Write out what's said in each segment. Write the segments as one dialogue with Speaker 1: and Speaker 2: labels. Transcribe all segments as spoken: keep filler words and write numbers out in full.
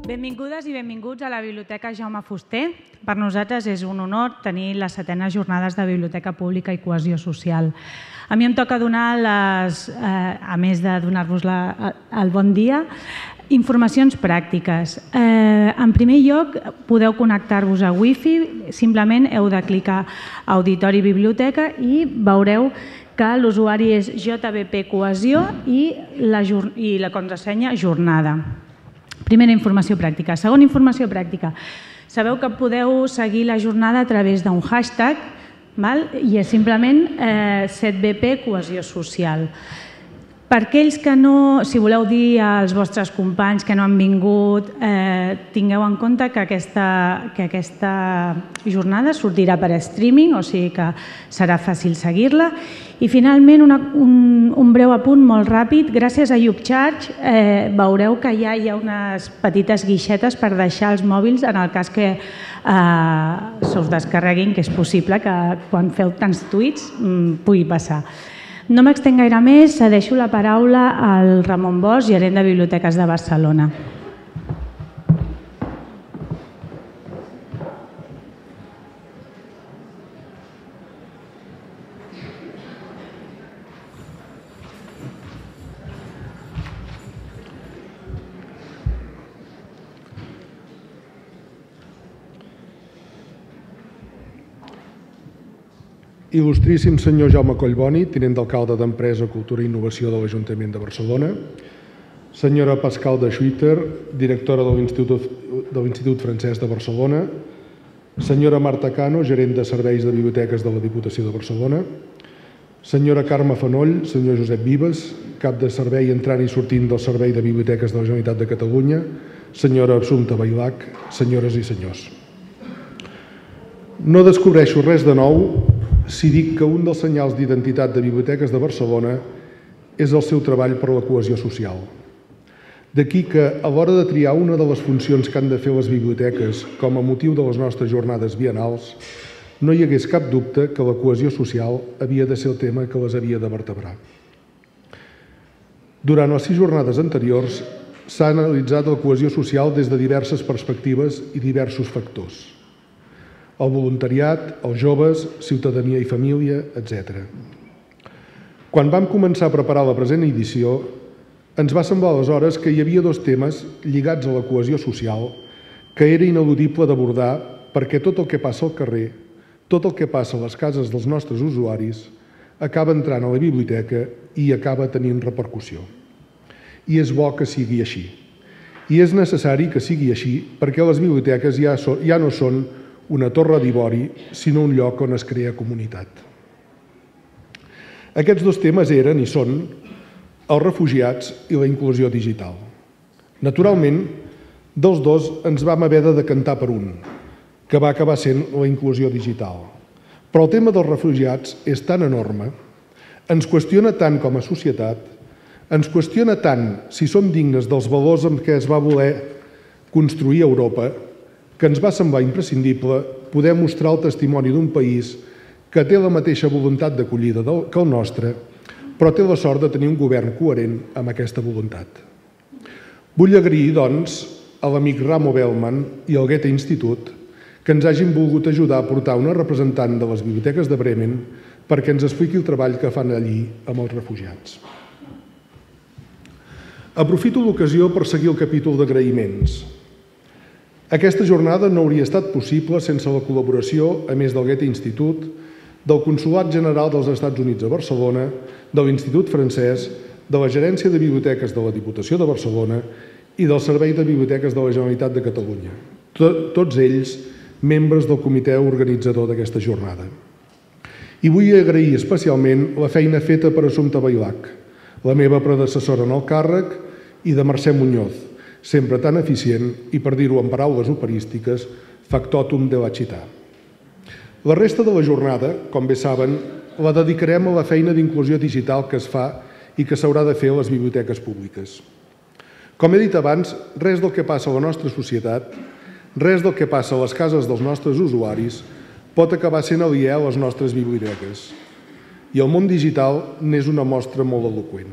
Speaker 1: Benvingudes i benvinguts a la Biblioteca Jaume Fuster. Per nosaltres és un honor tenir les setenes jornades de Biblioteca Pública i Cohesió Social. A mi em toca donar, les, eh, a més de donar-vos el bon dia, informacions pràctiques. Eh, en primer lloc, podeu connectar-vos a Wi-Fi, simplement heu de clicar Auditori Biblioteca i veureu que l'usuari és J B P Cohesió i la, i la contrasenya Jornada. Primera informació pràctica. Segona informació pràctica. Sabeu que podeu seguir la jornada a través d'un hashtag, val? I és simplement eh, set B P Cohesió Social. Per aquells que no, si voleu dir als vostres companys que no han vingut, eh, tingueu en compte que aquesta, que aquesta jornada sortirà per streaming, o sigui que serà fàcil seguir-la. I finalment una, un, un breu apunt molt ràpid. Gràcies a YouCharge eh, veureu que ja hi ha unes petites guixetes per deixar els mòbils en el cas que eh, se us descarreguin, que és possible que quan feu tants tuits mm, pugui passar. No m'extenc gaire més, cedeixo la paraula al Ramon Bosch, gerent de Biblioteques de Barcelona.
Speaker 2: Il·lustríssim senyor Jaume Collboni, tinent d'alcalde d'Empresa, Cultura i Innovació de l'Ajuntament de Barcelona, senyora Pascal de Schuiter, directora de l'Institut Francès de Barcelona, senyora Marta Cano, gerent de Serveis de Biblioteques de la Diputació de Barcelona, senyora Carme Fanoll, senyor Josep Vives, cap de servei entrant i sortint del Servei de Biblioteques de la Generalitat de Catalunya, senyora Assumpta Bailac, senyores i senyors. No descobreixo res de nou si dic que un dels senyals d'identitat de Biblioteques de Barcelona és el seu treball per la cohesió social. D'aquí que, a l'hora de triar una de les funcions que han de fer les biblioteques com a motiu de les nostres jornades biennals, no hi hagués cap dubte que la cohesió social havia de ser el tema que les havia de vertebrar. Durant les sis jornades anteriors s'ha analitzat la cohesió social des de diverses perspectives i diversos factors. El voluntariat, els joves, ciutadania i família, etcètera. Quan vam començar a preparar la present edició, ens va semblar aleshores que hi havia dos temes lligats a la cohesió social que era ineludible d'abordar perquè tot el que passa al carrer, tot el que passa a les cases dels nostres usuaris, acaba entrant a la biblioteca i acaba tenint repercussió. I és bo que sigui així. I és necessari que sigui així perquè les biblioteques ja, so, ja no són una torre d'ivori, sinó un lloc on es crea comunitat. Aquests dos temes eren i són els refugiats i la inclusió digital. Naturalment, dels dos ens vam haver de decantar per un, que va acabar sent la inclusió digital. Però el tema dels refugiats és tan enorme, ens qüestiona tant com a societat, ens qüestiona tant si som dignes dels valors amb què es va voler construir Europa, que ens va semblar imprescindible poder mostrar el testimoni d'un país que té la mateixa voluntat d'acollida que el nostre, però té la sort de tenir un govern coherent amb aquesta voluntat. Vull agrair, doncs, a l'amic Ramo Bellman i al Goethe Institut que ens hagin volgut ajudar a portar una representant de les biblioteques de Bremen perquè ens expliqui el treball que fan allí amb els refugiats. Aprofito l'ocasió per seguir el capítol d'agraïments. Aquesta jornada no hauria estat possible sense la col·laboració, a més del Goethe Institut, del Consolat General dels Estats Units a Barcelona, de l'Institut Francès, de la Gerència de Biblioteques de la Diputació de Barcelona i del Servei de Biblioteques de la Generalitat de Catalunya. Tots ells membres del comitè organitzador d'aquesta jornada. I vull agrair especialment la feina feta per Assumpta Bailac, la meva predecessora en el càrrec, i de Mercè Muñoz, sempre tan eficient i, per dir-ho en paraules operístiques, factotum de la città. La resta de la jornada, com bé saben, la dedicarem a la feina d'inclusió digital que es fa i que s'haurà de fer a les biblioteques públiques. Com he dit abans, res del que passa a la nostra societat, res del que passa a les cases dels nostres usuaris pot acabar sent aliè a les nostres biblioteques. I el món digital n'és una mostra molt eloqüent.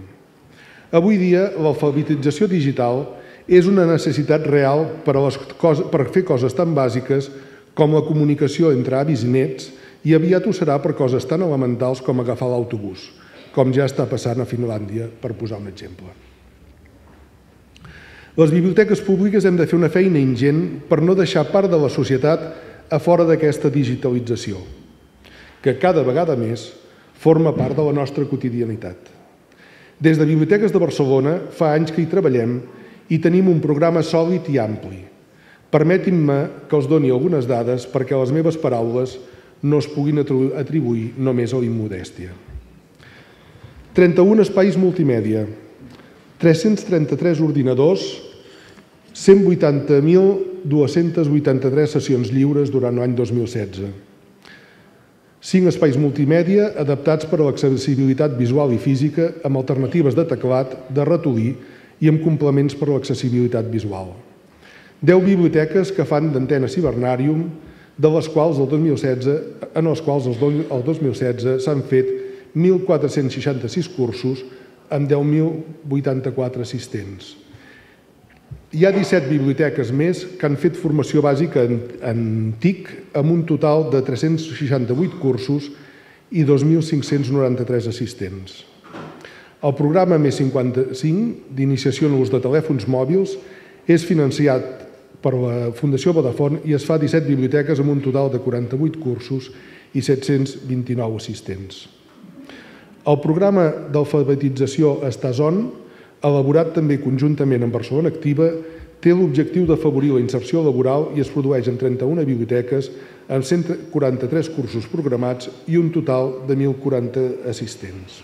Speaker 2: Avui dia, l'alfabetització digital és una necessitat real per, a les coses, per fer coses tan bàsiques com la comunicació entre avis i nets, i aviat ho serà per coses tan elementals com agafar l'autobús, com ja està passant a Finlàndia, per posar un exemple. Les biblioteques públiques hem de fer una feina ingent per no deixar part de la societat a fora d'aquesta digitalització, que cada vegada més forma part de la nostra quotidianitat. Des de Biblioteques de Barcelona fa anys que hi treballem i tenim un programa sòlid i ampli. Permetin-me que els doni algunes dades perquè les meves paraules no es puguin atribuir només a la immodèstia. trenta-un espais multimèdia, tres-cents trenta-tres ordinadors, cent vuitanta mil dues-centes vuitanta-tres sessions lliures durant l'any dos mil setze. cinc espais multimèdia adaptats per a l'accessibilitat visual i física amb alternatives de teclat, de ratolí i amb complements per a l'accessibilitat visual. deu biblioteques que fan d'antena cibernàrium, de les quals el dos mil setze, en els quals el dos mil setze s'han fet mil quatre-cents seixanta-sis cursos amb deu mil vuitanta-quatre assistents. Hi ha disset biblioteques més que han fet formació bàsica en T I C amb un total de tres-cents seixanta-vuit cursos i dos mil cinc-cents noranta-tres assistents. El programa més cinquanta-cinc d'iniciació en l'ús de telèfons mòbils és financiat per la Fundació Vodafone i es fa a disset biblioteques amb un total de quaranta-vuit cursos i set-cents vint-i-nou assistents. El programa d'alfabetització Estàs-On, elaborat també conjuntament amb Barcelona Activa, té l'objectiu d'afavorir la inserció laboral i es produeix en trenta-una biblioteques amb cent quaranta-tres cursos programats i un total de mil quaranta assistents.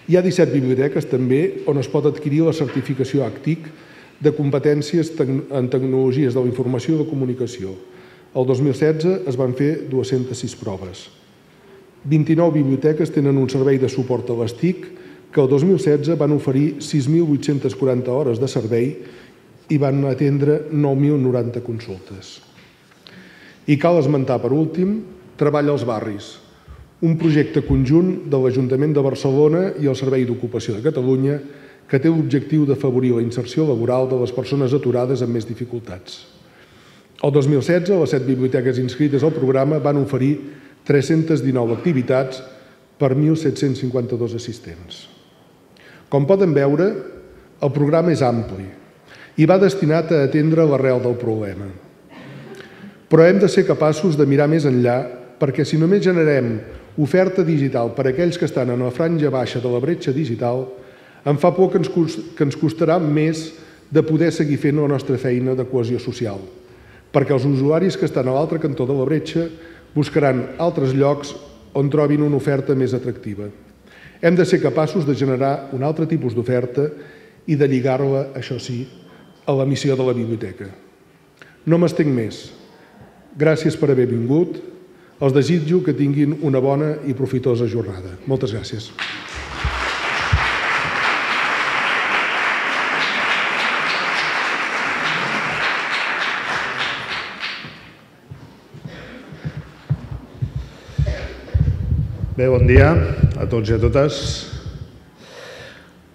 Speaker 2: Hi ha disset biblioteques també on es pot adquirir la certificació A C T I C de competències en tecnologies de la informació i la comunicació. El dos mil setze es van fer dues-centes sis proves. vint-i-nou biblioteques tenen un servei de suport a les T I C que el dos mil setze van oferir sis mil vuit-centes quaranta hores de servei i van atendre nou mil noranta consultes. I cal esmentar, per últim, Treball als barris, un projecte conjunt de l'Ajuntament de Barcelona i el Servei d'Ocupació de Catalunya que té l'objectiu d'afavorir la inserció laboral de les persones aturades amb més dificultats. El dos mil setze, les set biblioteques inscrites al programa van oferir tres-centes dinou activitats per mil set-cents cinquanta-dos assistents. Com poden veure, el programa és ampli i va destinat a atendre l'arrel del problema. Però hem de ser capaços de mirar més enllà perquè si només generem oferta digital per a aquells que estan en la franja baixa de la bretxa digital, em fa por que ens costarà més de poder seguir fent la nostra feina de cohesió social, perquè els usuaris que estan a l'altre cantó de la bretxa buscaran altres llocs on trobin una oferta més atractiva. Hem de ser capaços de generar un altre tipus d'oferta i de lligar-la, això sí, a la missió de la biblioteca. No m'estenc més. Gràcies per haver vingut. Els desitjo que tinguin una bona i profitosa jornada. Moltes gràcies.
Speaker 3: Bé, bon dia a tots i a totes.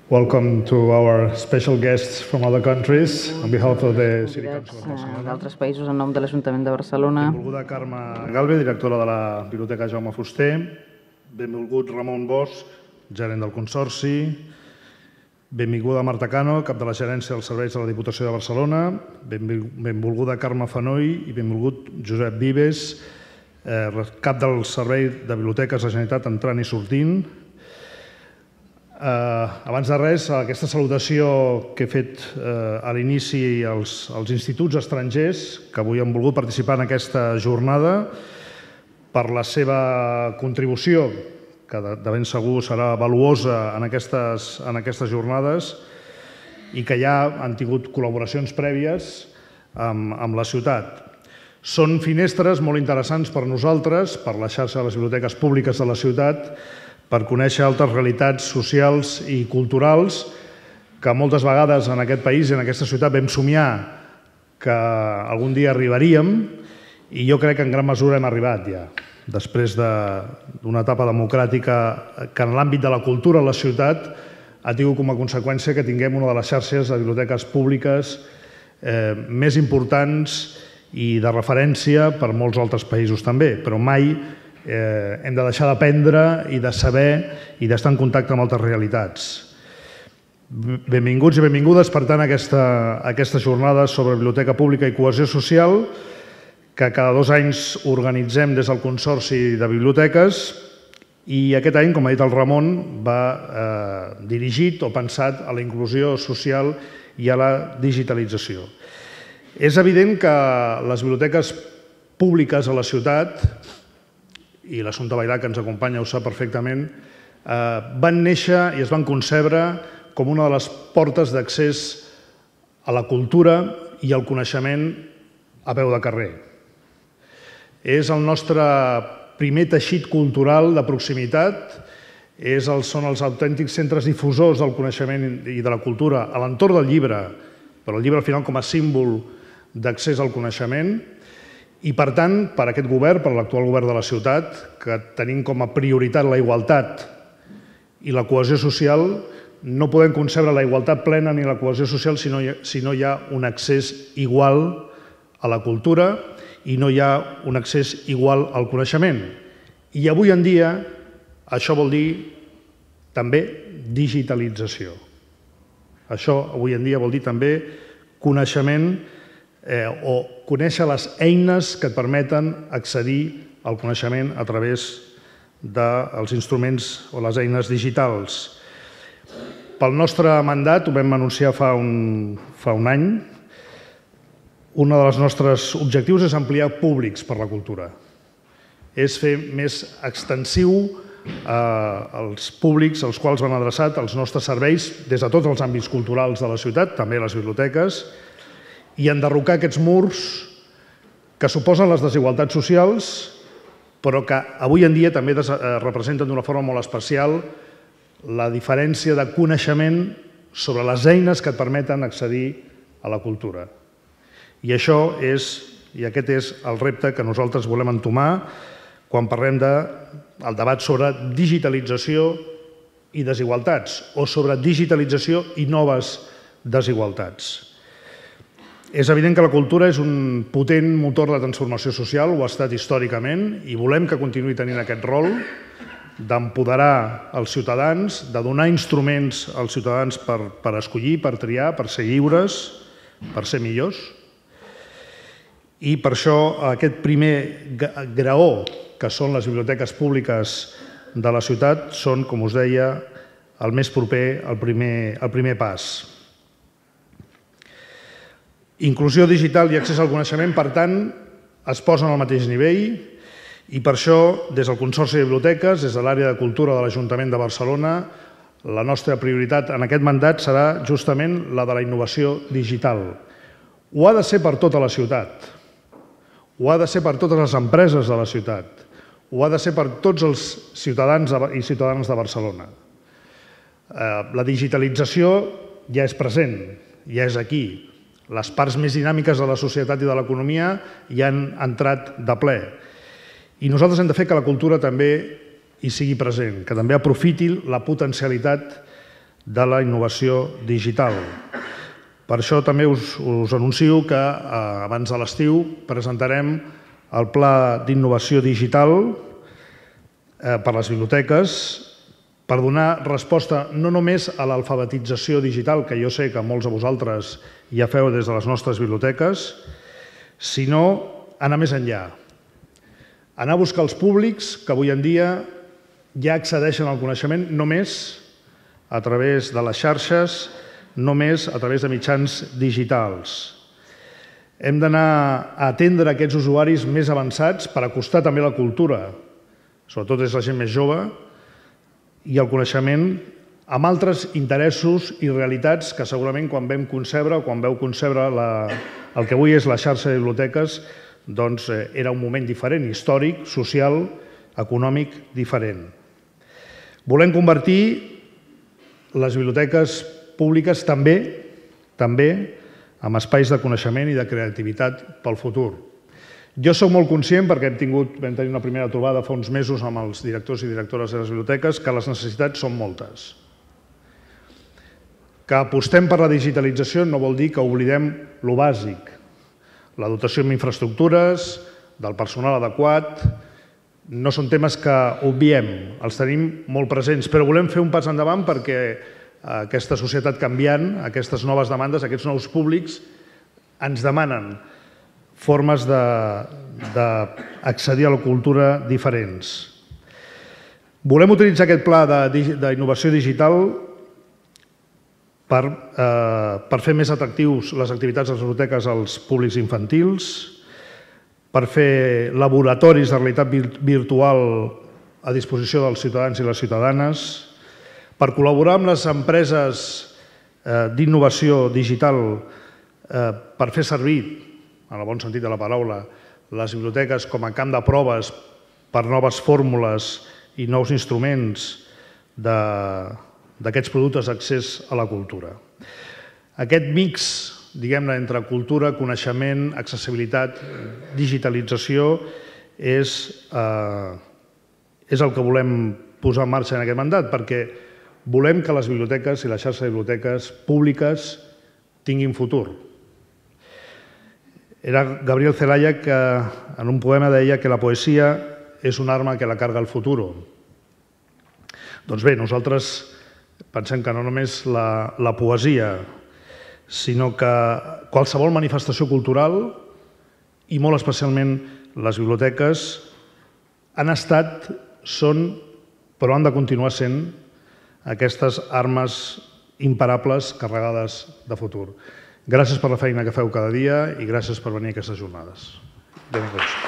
Speaker 3: Welcome to our special guests from other countries on behalf of the City Council of Barcelona.
Speaker 4: D'altres països en nom de l'Ajuntament de Barcelona.
Speaker 3: Benvolguda Carme Galve, directora de la Biblioteca Jaume Fuster. Benvolgut Ramon Bosch, gerent del Consorci. Benvinguda Marta Cano, cap de la Gerència dels Serveis de la Diputació de Barcelona. Benvolguda Carme Fanoy i benvolgut Josep Vives, cap del Servei de Biblioteques de la Generalitat entrant i sortint. Abans de res, aquesta salutació que he fet a l'inici als instituts estrangers que avui han volgut participar en aquesta jornada per la seva contribució, que de ben segur serà valuosa en aquestes jornades i que ja han tingut col·laboracions prèvies amb la ciutat. Són finestres molt interessants per nosaltres, per la xarxa de les biblioteques públiques de la ciutat, per conèixer altres realitats socials i culturals que moltes vegades en aquest país i en aquesta ciutat vam somiar que algun dia arribaríem i jo crec que en gran mesura hem arribat ja. Després d'una etapa democràtica que en l'àmbit de la cultura a la ciutat ha tingut com a conseqüència que tinguem una de les xarxes de biblioteques públiques més importants i de referència per molts altres països també, però mai hem de deixar d'aprendre i de saber i d'estar en contacte amb altres realitats. Benvinguts i benvingudes, per tant, a aquesta jornada sobre biblioteca pública i cohesió social que cada dos anys organitzem des del Consorci de Biblioteques i aquest any, com ha dit el Ramon, va dirigit o pensat a la inclusió social i a la digitalització. És evident que les biblioteques públiques a la ciutat, i l'Assumpta Bailà, que ens acompanya, ho sap perfectament, van néixer i es van concebre com una de les portes d'accés a la cultura i al coneixement a peu de carrer. És el nostre primer teixit cultural de proximitat, són els autèntics centres difusors del coneixement i de la cultura a l'entorn del llibre, però el llibre al final com a símbol d'accés al coneixement, i per tant, per aquest govern, per l'actual govern de la ciutat, que tenim com a prioritat la igualtat i la cohesió social, no podem concebre la igualtat plena ni la cohesió social si no hi ha un accés igual a la cultura i no hi ha un accés igual al coneixement. I avui en dia això vol dir també digitalització. Això avui en dia vol dir també coneixement o conèixer les eines que et permeten accedir al coneixement a través dels instruments o les eines digitals. Pel nostre mandat, ho vam anunciar fa un any, un dels nostres objectius és ampliar públics per la cultura. És fer més extensiu els públics als quals van adreçat els nostres serveis des de tots els àmbits culturals de la ciutat, també les biblioteques, i enderrocar aquests murs que suposen les desigualtats socials, però que avui en dia també representen d'una forma molt especial la diferència de coneixement sobre les eines que et permeten accedir a la cultura. I això és, i aquest és el repte que nosaltres volem entomar quan parlem del debat sobre digitalització i desigualtats, o sobre digitalització i noves desigualtats. És evident que la cultura és un potent motor de transformació social, ho ha estat històricament, i volem que continuï tenint aquest rol d'empoderar els ciutadans, de donar instruments als ciutadans per escollir, per triar, per ser lliures, per ser millors. I per això aquest primer graó, que són les biblioteques públiques de la ciutat, són, com us deia, el més proper, el primer pas. Inclusió digital i accés al coneixement, per tant, es posen al mateix nivell i per això, des del Consorci de Biblioteques, des de l'àrea de cultura de l'Ajuntament de Barcelona, la nostra prioritat en aquest mandat serà justament la de la innovació digital. Ho ha de ser per tota la ciutat. Ho ha de ser per totes les empreses de la ciutat. Ho ha de ser per tots els ciutadans i ciutadanes de Barcelona. La digitalització ja és present, ja és aquí. Les parts més dinàmiques de la societat i de l'economia ja han entrat de ple. I nosaltres hem de fer que la cultura també hi sigui present, que també aprofiti la potencialitat de la innovació digital. Per això també us anuncio que abans de l'estiu presentarem el Pla d'Innovació Digital per a les biblioteques per donar resposta no només a l'alfabetització digital, que jo sé que molts de vosaltres ja feu des de les nostres biblioteques, sinó anar més enllà. Anar a buscar els públics que avui en dia ja accedeixen al coneixement només a través de les xarxes, només a través de mitjans digitals. Hem d'anar a atendre aquests usuaris més avançats per acostar també la cultura, sobretot és la gent més jove, i el coneixement amb altres interessos i realitats que segurament quan vam concebre o quan veu concebre el que avui és la xarxa de biblioteques doncs era un moment diferent, històric, social, econòmic, diferent. Volem convertir les biblioteques públiques també també amb espais de coneixement i de creativitat pel futur. Jo soc molt conscient, perquè hem tingut, vam tenir una primera trobada fa uns mesos amb els directors i directores de les biblioteques, que les necessitats són moltes. Que apostem per la digitalització no vol dir que oblidem lo bàsic. La dotació amb infraestructures, del personal adequat, no són temes que obviem, els tenim molt presents, però volem fer un pas endavant perquè aquesta societat canviant, aquestes noves demandes, aquests nous públics, ens demanen formes d'accedir a la cultura diferents. Volem utilitzar aquest pla d'innovació digital per, eh, per fer més atractius les activitats de les biblioteques als públics infantils, per fer laboratoris de realitat virtual a disposició dels ciutadans i les ciutadanes, per col·laborar amb les empreses eh, d'innovació digital eh, per fer servir, en el bon sentit de la paraula, les biblioteques com a camp de proves per noves fórmules i nous instruments d'aquests productes d'accés a la cultura. Aquest mix, diguem-ne, entre cultura, coneixement, accessibilitat, digitalització, és, eh, és el que volem posar en marxa en aquest mandat, perquè volem que les biblioteques i la xarxa de biblioteques públiques tinguin futur. Era Gabriel Celaya que en un poema deia que la poesia és una arma que la carga el futur. Doncs bé, nosaltres pensem que no només la, la poesia, sinó que qualsevol manifestació cultural, i molt especialment les biblioteques, han estat, són, però han de continuar sent aquestes armes imparables carregades de futur. Gràcies per la feina que feu cada dia i gràcies per venir a aquestes jornades. Benvinguts.